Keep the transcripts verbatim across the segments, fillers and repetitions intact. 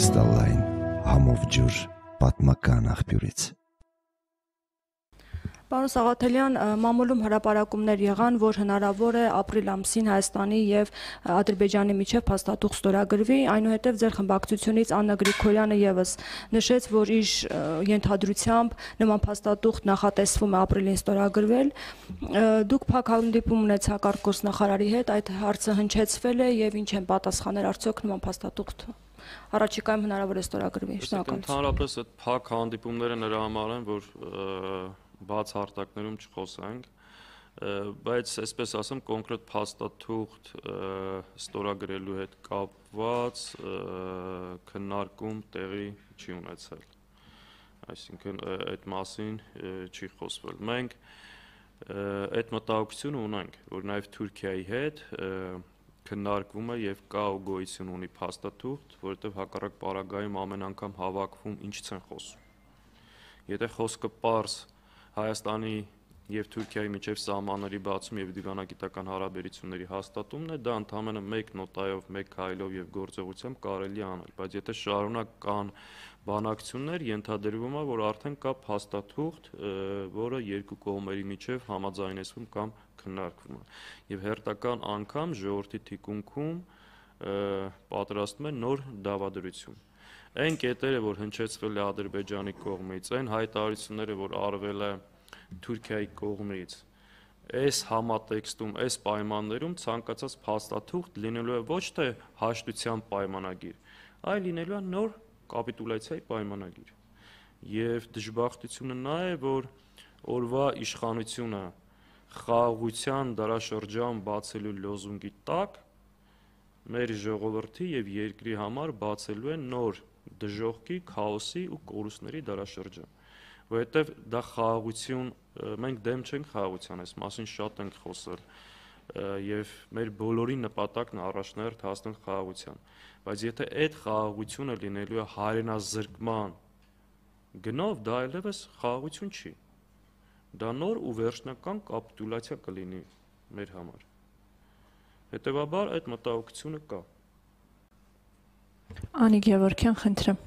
Կրիստալային համով ջուր պատմական աղբյուրից։ Պարոն Սաղաթելյան, մամուլում հրապարակումներ եղան, որ հնարավոր է ապրիլ ամսին Հայաստանի եւ Ադրբեջանի միջև փաստաթուղթ ստորագրվի, այնուհետև ձեր խմբակցությունից Աննա Գրիգորյանը եւս նշեց, որ իր ենթադրությամբ նման փաստաթուղթ նախատեսվում է ապրիլին ստորագրվել։ Դուք փակ հանդիպում ունեցաք արտգործնախարարի հետ, այդ հարցը հնչեցվել է եւ ինչ են պատասխանել, արդյոք նման փաստաթուղթ առաջիկայում հնարավոր է ստորագրվի։ Շնորհակալություն։ Ընդհանրապես այդ փակ հանդիպումները նրա համար են, որ բաց հարթակներում չխոսենք, բայց այսպես ասեմ կոնկրետ փաստաթուղթ ստորագրելու հետ կապված քննարկում տեղի չի ունեցել, այսինքն այդ մասին չի խոսվել։ Մենք այդ մտահոգությունը ունենք, որ նաև Թուրքիայի հետ քննարկվում է եւ կա ու գոյություն ունի փաստաթուղթ, որովհետեւ հակառակ պարագայում ամեն անգամ հավաքվում ինչից են խոսում։ Եթե խոսքը պարզ Հայաստանի եւ Թուրքիայի միջև սահմանների բացում եւ դիվանագիտական հարաբերությունների հաստատումն է, դա ընդհանրապես մեկ նոտայով, մեկ քայլով եւ գործողությամբ կարելի է անել, բայց եթե շարունակ կան բանակցություններ, ենթադրվում է, որ արդեն կա փաստաթուղթ, որը երկու կողմերի միջև համաձայնեցվում կամ քննարկվում է։ Եվ հերթական անգամ ժողովրդի թիկունքում պատրաստում է նոր դավադրություն։ Այն կետերը, որ հնչեցվել է Ադրբեջանի կողմից, այն հայտարարությունները, որ արվել է Թուրքիայի կողմից, այս համատեքստում, այս պայմաններում ցանկացած փաստաթուղթ լինելու է ոչ թե հաշտության պայմանագիր, այլ լինելու է նոր կապիտուլյացիայի պայմանագիր։ Եվ դժբախտությունը նա է, որ օրվա իշխանությունը խաղաղության դարաշրջան բացելու լոզունգի տակ մեր ժողովրդի եւ երկրի համար բացելու է նոր դժոխքի, քաոսի ու կորուստների դարաշրջան, որովհետեւ դա խաղաղություն, մենք դեմ չենք խաղաղության, այս մասին շատ ենք խոսել եւ մեր բոլորի նպատակն է առաջնահերթ հասնել խաղաղության, բայց եթե այդ խաղաղությունը լինելու է հայրենազրկման գնով, դա այլևս խաղաղություն չի, դա նոր ու վերջնական կապիտուլյացիա կլինի մեր համար, հետեւաբար այդ մտահոգությունը կա։ Անի Գևորգյան, խնդրեմ։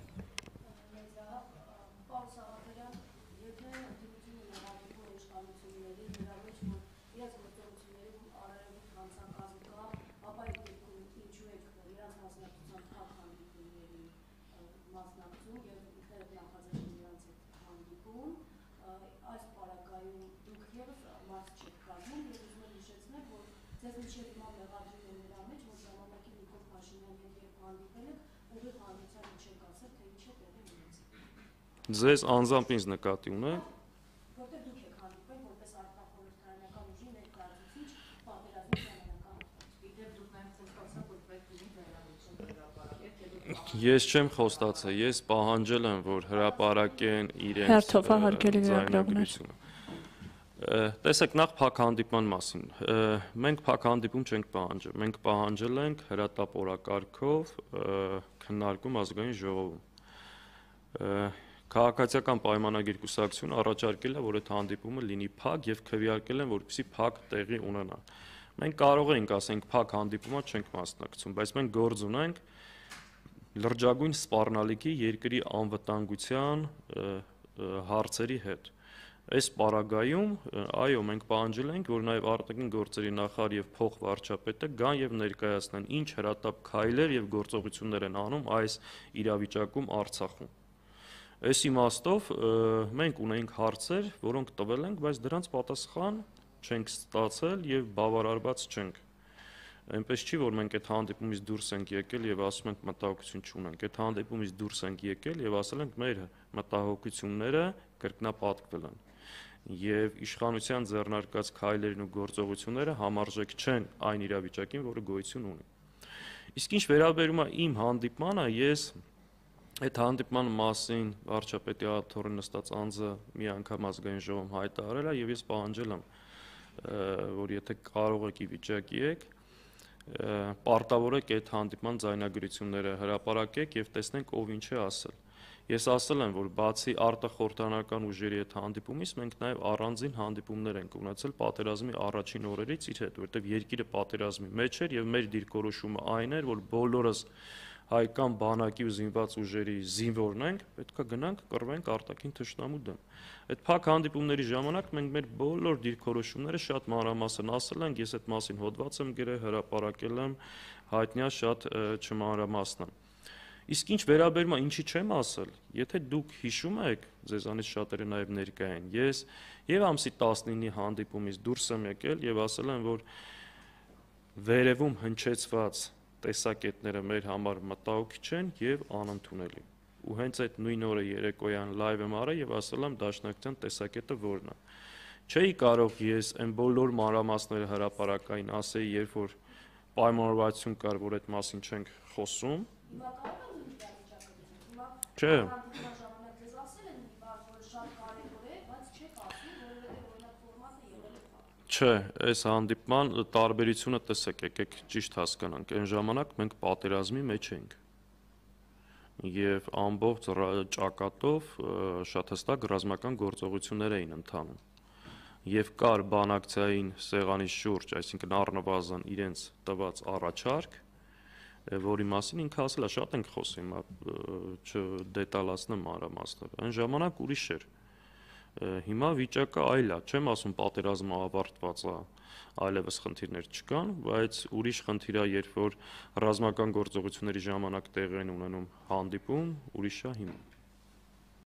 Ձեզ անձամբ ինձ նկատի ունեք։ Ես չեմ խոստացել, ես պահանջել եմ, որ հրապարակեն իրենց ձայնագրությունը։ Տեսեք, նախ փակ հանդիպման մասին։ Մենք փակ հանդիպում չենք պահանջել, մենք պահանջել ենք հրատապ օրակարգով քննարկում ազգային ժողովում։ Քաղաքացիական պայմանագիր կուսակցությունը առաջարկել է, որ այդ հանդիպումը լինի փակ եւ քվեարկել են, որպեսզի փակ տեղի ունենա։ Մենք կարող ենք ասենք փակ հանդիպումա չենք մասնակցում, բայց մենք գործ ունենք լրջագույն սպառնալիքի երկրի անվտանգության հարցերի հետ։ Այս պարագայում, այո, մենք պահանջել ենք, որ նաեւ արտաքին գործերի նախարար եւ փոխվարչապետը գան եւ ներկայացնեն ինչ հրատապ քայլեր եւ գործողություններ են անում այս իրավիճակում Արցախում։ Այս իմաստով մենք ունենք հարցեր, որոնք տվել ենք, բայց դրանց պատասխան չենք ստացել եւ բավարարված չենք։ Այնպես չի, որ մենք այդ հանդիպումից դուրս ենք եկել եւ ասում ենք մտահոգություն չունենք։ Այդ հանդիպումից դուրս ենք եկել եւ ասել ենք մեր մտահոգությունները կրկնապատկվել են։ Եվ իշխանության ձեռնարկած քայլերն ու գործողությունները համարժեք չեն այն իրավիճակին, որը գոյություն ունի։ Իսկ ինչ վերաբերում է իմ հանդիպմանը, ես այդ հանդիպման մասին վարչապետի աթոռին նստած անձը մի անգամ ազգային ժողովում հայտարարել է եւ ես պահանջել եմ, որ եթե կարող եք ի վիճակի եք, պարտավորեք այդ հանդիպման ձայնագրությունները հրապարակեք եւ տեսնենք ով ինչ է ասել։ Ես ասել եմ, որ բացի արտախորհրդանական ուժերի հետ հանդիպումից մենք նաեւ առանձին հանդիպումներ ենք ունեցել պատերազմի առաջին օրերից իր հետ, որովհետեւ երկիրը պատերազմի մեջ էր եւ մեր դիրքորոշումը այն էր, որ բոլորս հայկական բանակի ու զինված ուժերի զինվորն ենք, պետքա գնանք կռվենք արտաքին թշնամու դեմ։ Այդ փակ հանդիպումների ժամանակ մենք մեր բոլոր դիրքորոշումները շատ մանրամասն ասել ենք, ես այդ մասին հոդված եմ գրել, հրապարակել եմ, հայտնյա շատ չմանրամասն եմ։ Իսկ ինչ վերաբերում է ինչի չեմ ասել, եթե դուք հիշում եք, ձեզանից շատերը նաև ներկա են, ես եւ ամսի տասնինի հանդիպումից դուրս եմ եկել եւ ասել եմ, որ վերևում հնչեցված տեսակետները մեր համար մտահոգիչ են եւ անընդունելի։ Ու հենց այդ նույն օրը երեկոյան լայվ եմ արել եւ ասել եմ դաշնակցության տեսակետը որն է։ Չէի կարող ես այն բոլոր մանրամասները հրապարակային ասեի, երբ որ պայմանավորվածություն կար, որ այդ մասին չենք խոսում։ Չէ։ Չէ, այս հանդիպման տարբերությունը տեսեք, եկեք ճիշտ հասկանանք, այն ժամանակ մենք պատերազմի մեջ ենք եւ ամբողջ ճակատով շատ հստակ ռազմական գործողություններ էին ընթանում եւ կար բանակցային սեղանի շուրջ, այսինքն առնվազն իրենց տված առաջարկ, որի մասին ինքը ասել է շատ ենք խոսում, չդետալացնեմ մանրամասները, այն ժամանակ ուրիշ էր։ Հիմա վիճակը այլ է, չեմ ասում պատերազմը ավարտված է, այլևս խնդիրներ չկան, բայց ուրիշ խնդիր է, երբ որ ռազմական գործողությունների ժամանակ տեղի են ունենում հանդիպում, ուրիշ է հիմա։